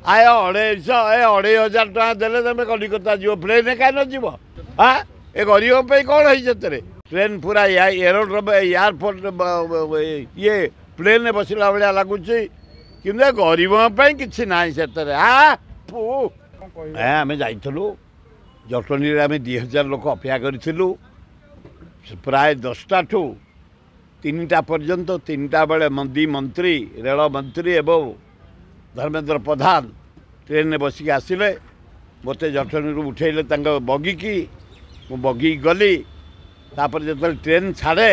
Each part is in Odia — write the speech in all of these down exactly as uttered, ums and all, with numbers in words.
ଆଏ ଅଢ଼େଇଶହ ଏ ଅଢ଼େଇ ହଜାର ଟଙ୍କା ଦେଲେ ତମେ କଲିକତା ଯିବ, ପ୍ଲେନ୍ରେ କାହିଁ ନ ଯିବ? ଆଁ ଏ ଗରିବଙ୍କ ପାଇଁ କ'ଣ ହେଇଛି ସେଥିରେ? ଟ୍ରେନ୍ ପୁରା ଏରୋଡ୍ରମ୍ ଏୟାରପୋର୍ଟ ଇଏ ପ୍ଲେନ୍ରେ ବସିଲା ଭଳିଆ ଲାଗୁଛି, କିନ୍ତୁ ଏ ଗରିବଙ୍କ ପାଇଁ କିଛି ନାହିଁ ସେଥିରେ। ଆ ଏ ଆମେ ଯାଇଥିଲୁ ଜଟଣୀରେ, ଆମେ ଦୁଇ ହଜାର ଲୋକ ଅପେକ୍ଷା କରିଥିଲୁ ପ୍ରାୟ ଦଶଟାଠୁ ତିନିଟା ପର୍ଯ୍ୟନ୍ତ। ତିନିଟା ବେଳେ ଦୁଇ ମନ୍ତ୍ରୀ, ରେଳ ମନ୍ତ୍ରୀ ଏବଂ ଧର୍ମେନ୍ଦ୍ର ପ୍ରଧାନ ଟ୍ରେନ୍ରେ ବସିକି ଆସିଲେ। ମୋତେ ଜଟଣୀରୁ ଉଠେଇଲେ ତାଙ୍କ ବଗିକି, ମୁଁ ବଗିକି ଗଲି। ତାପରେ ଯେତେବେଳେ ଟ୍ରେନ୍ ଛାଡ଼େ,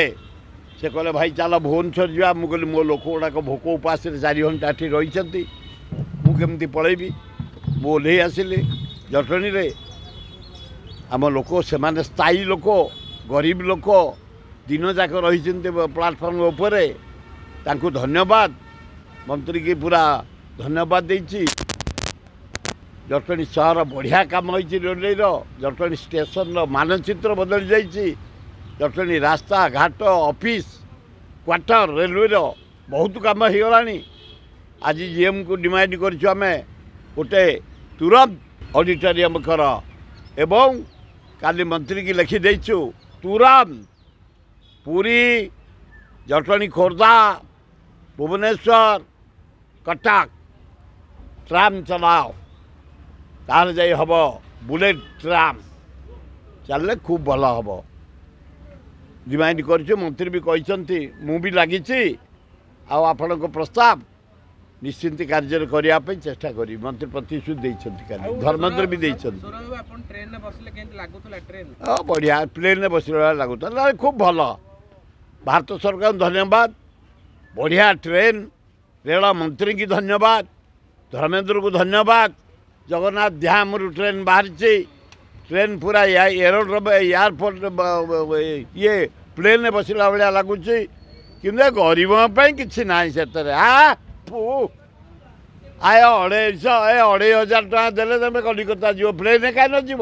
ସେ କହିଲେ ଭାଇ ଚାଲ ଭୁବନେଶ୍ୱର ଯିବା। ମୁଁ କହିଲି ମୋ ଲୋକ ଗୁଡ଼ାକ ଭୋକ ଉପାସରେ ଚାରି ଘଣ୍ଟା ଏଠି ରହିଛନ୍ତି, ମୁଁ କେମିତି ପଳେଇବି? ମୁଁ ଓହ୍ଲେଇ ଆସିଲି ଜଟଣୀରେ। ଆମ ଲୋକ ସେମାନେ ସ୍ଥାୟୀ ଲୋକ, ଗରିବ ଲୋକ, ଦିନ ଯାକ ରହିଛନ୍ତି ପ୍ଲାଟଫର୍ମ ଉପରେ, ତାଙ୍କୁ ଧନ୍ୟବାଦ। ମନ୍ତ୍ରୀକି ପୁରା ଧନ୍ୟବାଦ ଦେଇଛି। ଜଟଣୀ ସହର ବଢ଼ିଆ କାମ ହେଇଛି ରେଲୱେର। ଜଟଣୀ ଷ୍ଟେସନର ମାନଚିତ୍ର ବଦଳି ଯାଇଛି। ଜଟଣୀ ରାସ୍ତା ଘାଟ, ଅଫିସ୍, କ୍ୱାର୍ଟର, ରେଲୱେର ବହୁତ କାମ ହେଇଗଲାଣି। ଆଜି ଜିଏମ୍କୁ ଡିମାଣ୍ଡ କରିଛୁ ଆମେ ଗୋଟେ ତୁରନ୍ତ ଅଡ଼ିଟୋରିୟମ୍ କର, ଏବଂ କାଲି ମନ୍ତ୍ରୀକି ଲେଖିଦେଇଛୁ ତୁରନ୍ତ ପୁରୀ, ଜଟଣୀ, ଖୋର୍ଦ୍ଧା, ଭୁବନେଶ୍ୱର, କଟକ ଟ୍ରାମ୍ ଚଲାଅ, ତାହେଲେ ଯାଇ ହେବ। ବୁଲେଟ୍ ଟ୍ରାମ୍ ଚାଲିଲେ ଖୁବ୍ ଭଲ ହେବ। ଡିମାଣ୍ଡ କରିଛୁ, ମନ୍ତ୍ରୀ ବି କହିଛନ୍ତି, ମୁଁ ବି ଲାଗିଛି, ଆଉ ଆପଣଙ୍କ ପ୍ରସ୍ତାବ ନିଶ୍ଚିନ୍ତ କାର୍ଯ୍ୟରେ କରିବା ପାଇଁ ଚେଷ୍ଟା କରିବି। ମନ୍ତ୍ରୀ ପ୍ରତିଶ୍ରୁତି ଦେଇଛନ୍ତି, କାଲି ଧର୍ମେନ୍ଦ୍ର ବି ଦେଇଛନ୍ତି। ହଁ, ବଢ଼ିଆ, ପ୍ଲେନ୍ରେ ବସିଲା ଭଳିଆ ଲାଗୁଥିଲା, ଖୁବ୍ ଭଲ। ଭାରତ ସରକାରଙ୍କୁ ଧନ୍ୟବାଦ, ବଢ଼ିଆ ଟ୍ରେନ୍। ରେଳ ମନ୍ତ୍ରୀଙ୍କୁ ଧନ୍ୟବାଦ, ଧର୍ମେନ୍ଦ୍ରକୁ ଧନ୍ୟବାଦ। ଜଗନ୍ନାଥ ଧାମରୁ ଟ୍ରେନ୍ ବାହାରିଛି। ଟ୍ରେନ୍ ପୁରା ଏରୋଡ୍ରମ୍ ଏୟାରପୋର୍ଟ ଇଏ ପ୍ଲେନ୍ରେ ବସିଲା ଭଳିଆ ଲାଗୁଛି, କିନ୍ତୁ ଏ ଗରିବଙ୍କ ପାଇଁ କିଛି ନାହିଁ ସେଥିରେ। ଆ ଆଏ ଅଢ଼େଇଶହ ଏ ଅଢ଼େଇ ହଜାର ଟଙ୍କା ଦେଲେ ତମେ କଲିକତା ଯିବ, ପ୍ଲେନ୍ରେ କାହିଁ ନ ଯିବ?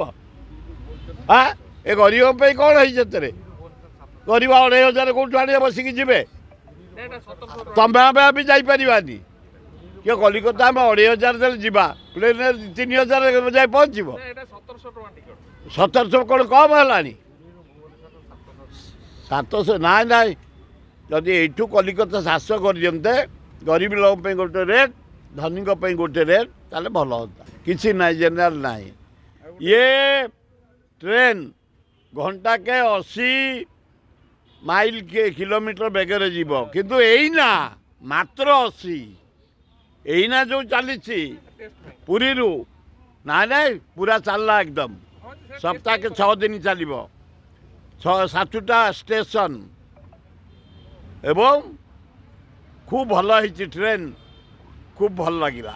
ଆଁ ଏ ଗରିବଙ୍କ ପାଇଁ କ'ଣ ହେଇଛି ସେଥିରେ? ଗରିବ ଅଢ଼େଇ ହଜାର କେଉଁଠୁ ଆଣିବେ ବସିକି ଯିବେ? ତମେ ଆମେ ବି ଯାଇପାରିବାନି କିଏ କଲିକତା। ଆମେ ଅଢ଼େଇ ହଜାର ଦେଲେ ଯିବା, ପ୍ଲେନ୍ରେ ତିନି ହଜାର ଯାଇ ପହଞ୍ଚିବ। ସତରଶହ କ'ଣ କମ୍ ହେଲାଣି? ସାତଶହ ନାଇଁ ନାଇଁ, ଯଦି ଏଇଠୁ କଲିକତା ସାତଶହ କରିଦିଅନ୍ତେ, ଗରିବ ଲୋକଙ୍କ ପାଇଁ ଗୋଟେ ରେଟ୍, ଧନୀଙ୍କ ପାଇଁ ଗୋଟେ ରେଟ୍, ତାହେଲେ ଭଲ ହୁଅନ୍ତା। କିଛି ନାହିଁ, ଜେନେରାଲ ନାହିଁ। ଇଏ ଟ୍ରେନ୍ ଘଣ୍ଟାକେ ଅଶୀ ମାଇଲ କିଲୋମିଟର ବେଗରେ ଯିବ, କିନ୍ତୁ ଏଇନା ମାତ୍ର ଅଶୀ। ଏଇନା ଯେଉଁ ଚାଲିଛି ପୁରୀରୁ, ନାଇଁ ନାଇଁ, ପୁରା ଚାଲିଲା ଏକଦମ। ସପ୍ତାହକେ ଛଅ ଦିନ ଚାଲିବ, ଛଅ ସାତଟା ଷ୍ଟେସନ, ଏବଂ ଖୁବ୍ ଭଲ ହେଇଛି ଟ୍ରେନ୍, ଖୁବ୍ ଭଲ ଲାଗିଲା।